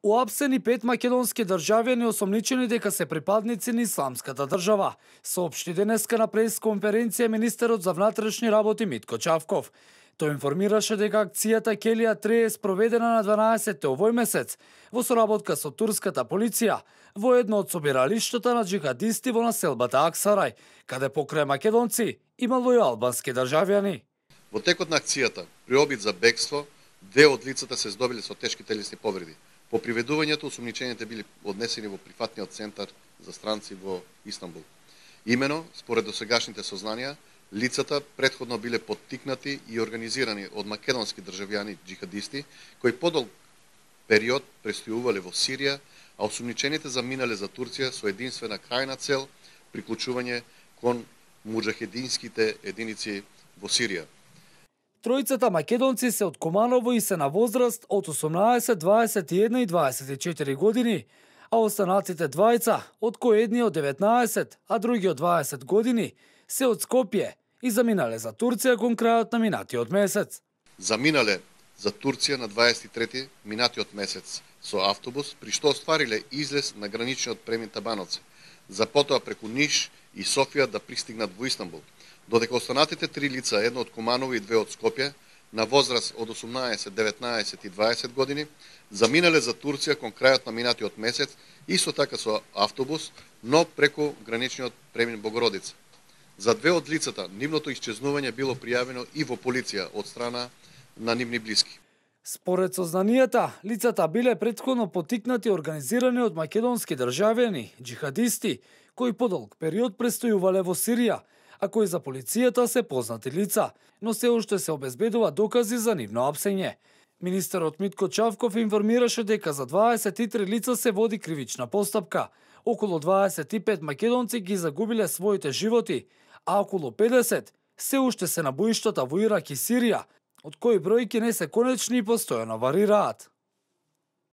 Уапсени 5 македонски државјани осомничени дека се припадници на исламската држава, соопшти денеска на пресконференција министерот за внатрешни работи Митко Чавков. Тој информираше дека акцијата Келија 3 е спроведена на 12 овој месец во соработка со турската полиција во едно од собиралиштата на џихадисти во населбата Аксарај, каде покрај македонци имало и албански државјани. Во текот на акцијата, при обид за бегство, две од лицата се здобиле со тешки телесни повреди. По приведувањето, осумничените били однесени во прифатниот центар за странци во Истанбул. Имено, според досегашните сознанија, лицата претходно биле поттикнати и организирани од македонски државјани џихадисти, кои подолг период престојувале во Сирија, а осумничените заминале за Турција со единствена крајна цел приклучување кон муџахединските единици во Сирија. Тројцата македонци се од Команово и се на возраст од 18, 21 и 24 години, а останатите двајца, од кои едниот 19, а другиот 20 години, се од Скопје и заминале за Турција кон крајот на минатиот месец. Заминале за Турција на 23 минатиот месец со автобус, при што оствариле излез на граничниот премин Табановци, за потоа преку Ниш и Софија да пристигнат во Истанбул. Додека останатите три лица, едно од Куманово и две од Скопје, на возраст од 18, 19 и 20 години, заминале за Турција кон крајот на минатиот месец, исто така со автобус, но преку граничниот премин Богородица. За две од лицата, нивното исчезнување било пријавено и во полиција од страна на нивни блиски. Според сознанијата, лицата биле претходно поттикнати и организирани од македонски државјани, џихадисти, кои подолг период престојувале во Сирија, а кои за полицијата се познати лица, но се уште се обезбедува докази за нивно апсење. Министерот Митко Чавков информираше дека за 23 лица се води кривична постапка, околу 25 македонци ги загубиле своите животи, а околу 50 се уште се на боиштата во Ирак и Сирија, од кои бројки не се конечни и постојано варираат.